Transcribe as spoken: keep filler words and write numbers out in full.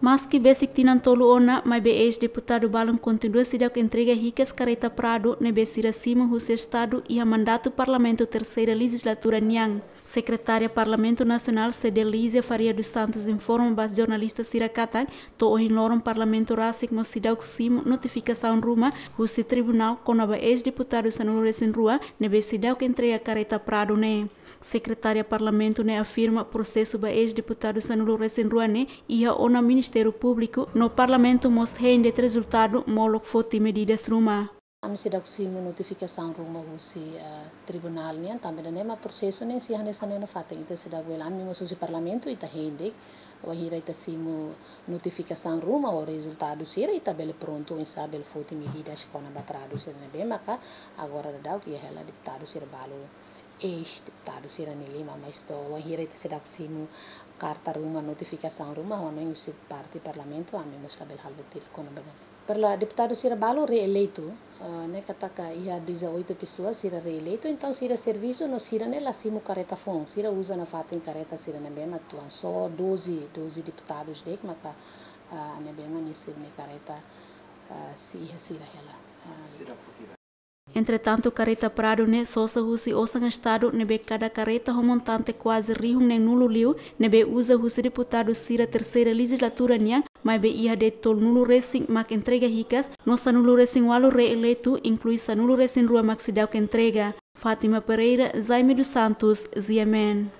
Maski besik tinan tolu ona, maibé eis-deputadu balun kontinua seidauk entrega hikas kareta Prado ne'ebé sira simu husi Estadu iha mandatu Parlamentu Terseira Lejizlatura nian. Sekretária Parlamentu Nasionál, Cedelízia Faria dos Santos, informa ba jornalista sira katak to'o ohin loron Parlamentu rasik mós seidauk simu notifikasaun ruma husi tribunál kona-ba eis-deputadu sanulu-resin-rua ne'ebé seidauk entrega kareta Prado ne'e. Sekretária Parlamentu ne'e afirma prosesu ba eis-deputadu sanulu-resin-rua ne'e iha ona Ministériu Públiku no Parlamentu mós hein de'it rezultadu molok foti medidas ruma. Ami seidauk simu notifikasaun ruma husi, ah, tribunál nian, tanba ida-ne'e mak prosesu ne'e sei hanesan ne'e nafatin, ita seidauk bele, ami mós husi Parlamentu ita hein de'it, wainhira ita simu notifikasaun ruma ou rezultadu sira, ita bele prontu oinsá bele foti medidas kona-ba Prado sira ne'ebé maka agora daudaun iha hela deputadu sira balu, eis-deputadu sira-nia liman, mas to'o wainhira ita seidauk simu karta ruma, notifikasaun ruma, ho no husi parte Parlamentu, ami mós labele halo buat ida kona-ba ne'e. Pela deputadu sira balu reeleitu, ah, ne'e katak iha dezoito pessoas sira reeleitu, entaun sira servisu no sira ne'e la simu kareta foun, sira uza nafatin kareta sira ne'ebé mak tuan, só doze, doze deputadus de'it maka, ah, ne'ebé mak nia sira-nia kareta, ah, sei iha sira hela. Ah. Entretantu, kareta Prado ne'e sosa husi osan Estadu ne'ebé kada kareta ho montante kuaze rihun neen-nulu liu, ne'ebé uza husi deputadu sira Terseira Lejizlatura nian, maibé iha de'it tolunulu-resin mak entrega hikas, no sanulu-resin-ualu reeleitu, inklui sanulu-resin-rua mak seidauk entrega. Fátima Pereira, Jaime dos Santos, G M N.